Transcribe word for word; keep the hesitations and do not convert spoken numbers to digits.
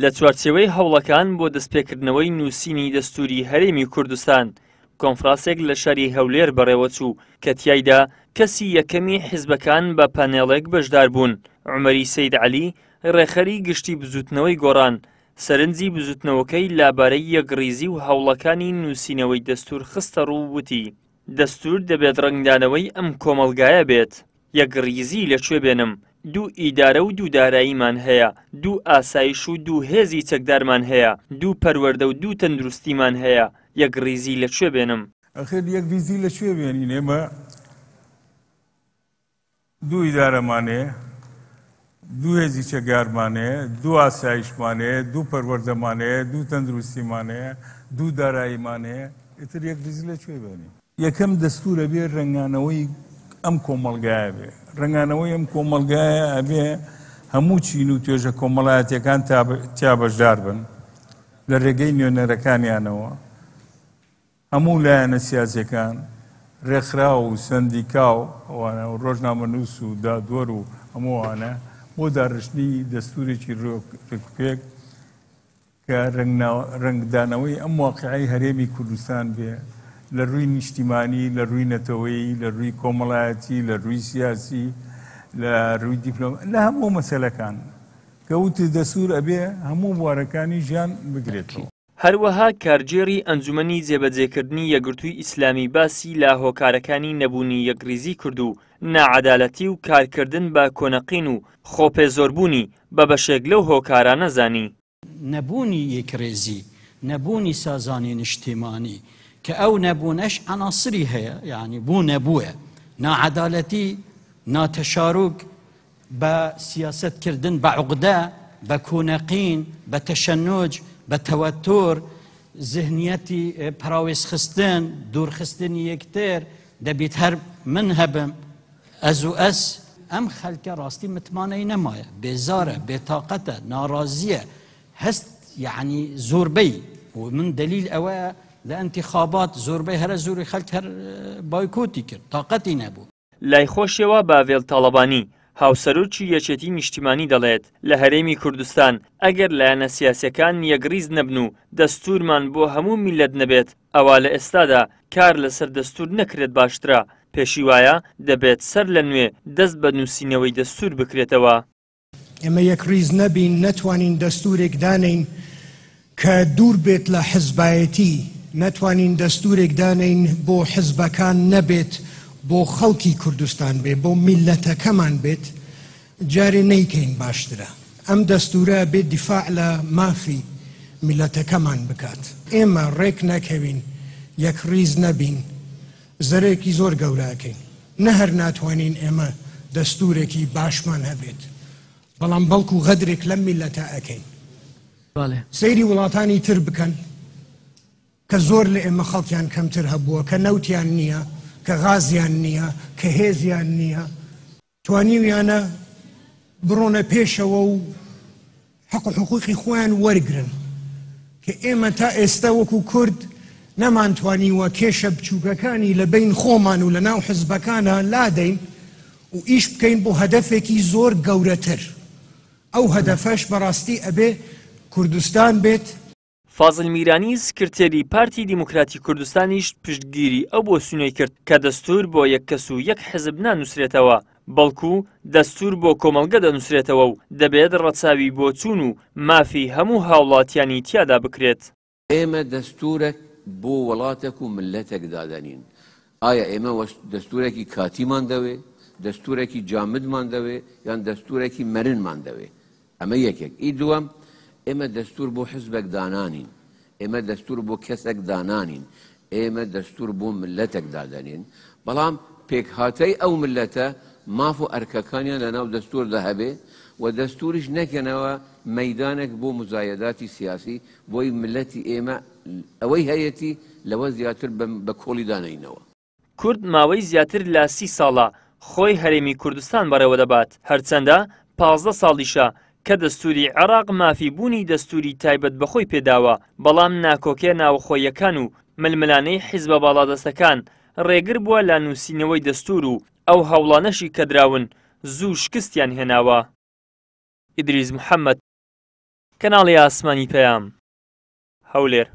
لە چوارچێوەی هەوڵەکان بۆ دەستپێکردنەوەی نووسینی دەستوری هەرێمی کوردستان، کۆنفرانسێک لە شاری هەولێر بەڕێوەچوو کە تیایدا کەسی یەکەمی حیزبەکان بە پانێڵێک بەشدار بوون. عومەری سەید عەلی، ڕێکخەری گشتی بزوتنەوەی گۆڕان، سەرنجی بزوتنەوەکەی لابارەی یەکڕیزی و هەوڵەکانی نووسینەوەی دەستور خستە ڕوو وتی دەستور دەبێت ڕەنگدانەوەی ئەم کۆمەڵگایە بێت. یەکڕیزی لەکوێ بێنم؟ دوو ئیدارە و دوو داراییمان هەیە، دوو ئاسایش و دوو هێزی چەکدارمان هەیە، دوو پەروەردە و دوو تەندروستیمان هەیە. یەکڕیزی لەکوێ بێنم؟ ئەخیر یەکڕیزی لەکوێ بێنین؟ ئێمە دوو ئیدارەمان هەیە، دوو هێزی چەکدارمان هەیە، دوو ئاسایشمان هەیە، دوو پەروەردەمان هەیە، دوو تەندروستیمان هەیە، دوو داراییمان هەیە. ئیتر یەکڕیزی لەکوێ بێنین؟ یەکەم دەستورە بێ ڕەنگانەوەی ئەم کۆمەڵگایە بێ، ڕەنگانەوەی ئەم کۆمەڵگایە ئەبێ هەموو چین و توێژە کۆمەڵایەتیەکان تیا بەشدار بن لە ڕێگەی نوێنەرەکانیانەوە، هەموو لایەنە سیاسیەکان، ڕێکخراو و سەندیکا و ئەوانە و ڕۆژنامەنووس و دادوەر و هەموو ئەوانە بۆ داڕشتنی دەستورێکی ڕێکوپێک کە ڕەنگدانەوەی ئەم واقعی هەرێمی کوردستان بێ لە ڕووی نیشتیمانی، لە ڕووی نەتەوەیی، لە ڕووی کۆمەڵایەتی، لە ڕووی سیاسی، لە ڕووی دیپلۆم، لە هەموو مەسەلەکان کە وتی دەستور ئەبێ هەموو بوارەکانی ژیان بگرێتەوە. هەروەها کارگێڕی ئەنجومەنی جێبەجێکردنی یەکگرتووی ئیسلامی باسی لە هۆکارەکانی نەبوونی یەکڕیزی کرد و ناعەدالەتی و کارکردن بە کۆنەقین و خۆپێزۆربوونی بە بەشێک لەو هۆکارانە زانی. نەبوونی یەکڕێزی، نەبوونی سازانی نیشتیمانی، کە ئەو نەبوونەش عناصری هەیە، یعنی بوو نەبووە، ناعەدالەتی، ناتەشاروک، بە سیاسەتکردن بە عقدە، بە کۆنەقین، بە تەشەنوج، بە تەوەتور، زهنیەتی پراوێزخستن، دوورخستنی یەکتر، دەبێت هەر من هەبم، ئەز و ئەس. ئەم خەلکە ڕاستی متمانەی نەمایە، بێزارە، بێتاقەتە، ناڕازیە، هەست یعنی زۆربەی و من دلیل ئەوەیە لە ئینتیخابات زۆربەی هەرە زۆری خەلک هەر بایکۆتی کرد، تاقەتی نەبوو. لای خۆشیەوە باڤێل تاڵەبانی، هاوسەرۆکی یەکێتی نیشتیمانی دەڵێت لە هەرێمی کوردستان ئەگەر لایەنە سیاسیەکان یەکڕیز نەبن و دەستورمان بۆ هەموو میللەت نەبێت، ئەوە لە ئێستادا کار لەسەر دەستور نەکرێت باشترە. پێشی وایە دەبێت سەر لە نوێ دەست بە نووسینەوەی دەستور بکرێتەوە. ئێمە یەکڕیز نەبین، نەتوانین دەستورێک دانین کە دوور بێت لە حزبایەتی، نەتوانین دەستورێک دانین بۆ حزبەکان نەبێت، بۆ خەڵکی کوردستان بێت، بۆ میلەتەکەمان بێت، جارێ نەیکەین باشترە. ئەم دەستورە بێت دیفاع لە مافی میلەتەکەمان بکات. ئێمە ڕێک نەکەوین، یەکڕیز نەبین، زەرێکی زۆر گەورەکەین. نەهەر ناتوانین ئێمە دەستورێکی باشمان هەبێت، بەڵام بەڵکو غەدرێک لەم میلەتە ئەکەین. سەیری وڵاتانی تر بکەن کە زۆر لە ئێمە خەڵکیان کەمتر هەبووە، کە نەوتیان نییە، کە غازیان نییە، کە هێزیان نییە، توانیویانە بڕۆنە پێشەوە و حەق و حقوقی خۆیان وەرگرن، کە ئێمە تا ئێستا وەکو کورد نەمانتوانیوە کێشە بچووکەکانی لە بین خۆمان و لە ناو حزبەکانە لادەین و ئیش بکەین بۆ هەدەفێکی زۆر گەورەتر. ئەو هەدەفەش بەڕاستی ئەبێ کوردستان بێت. فازل میرانی سکرتێری پارتی دیموکراتی کوردستانیش پشتگیری ئەو بۆسونەی کرد کە دەستور بۆ یەک کەس و یەک حزب نانووسرێتەوە، بەڵکو دەستور بۆ کۆمەڵگە دەنووسرێتەوە و دەبێت ڕەچاوی بۆچوون و مافی هەموو هاوڵاتیانی تیادا بکرێت. ئێمە دەستورێک بۆ وڵاتێک و ملەتێک دادەنین. ئایا ئێمە دەستورێکی کاتیمان دەوێ، دەستورێکی جامدمان دەوێ، یان دەستورێکی مەرنمان دەوێ؟ ئەمە یەکێک. ئی دووەم، ئێمە دەستور بۆ حزبێک دانانین، ئێمە دەستور بۆ کەسێک دانانین، ئێمە دەستور بۆ ملەتێک دادەنین. بەڵام پێکهاتەی ئەو ملەتە ماف و ئەرکەکانیان لەناو دەستوردا هەبێ و دەستوریش نەکەنەوە مەیدانێک بۆ مزایەداتی سیاسی بۆی ملەتی ئێمە ئەوەی هەیەتی لەوە زیاتر بە کۆڵی دانەینەوە. کورد ماوەی زیاتر لە سی ساڵە خۆی هەرێمی کوردستان بەڕێوە دەبات، هەرچەندە پازدە ساڵیشە کە دەستوری عێراق مافی بوونی دەستوری تایبەت بەخۆی پێداوە، بەڵام ناکۆکێ ناوخۆیەکان و ململانەی حیزبە باڵادەستەکان ڕێگر بووە لە نووسینەوەی دەستور و ئەو هەوڵانەشی کە دراون زوو شکستیان هێناوە. ئیدریس محەممەد، کەناڵی ئاسمانی پەیام، هەولێر.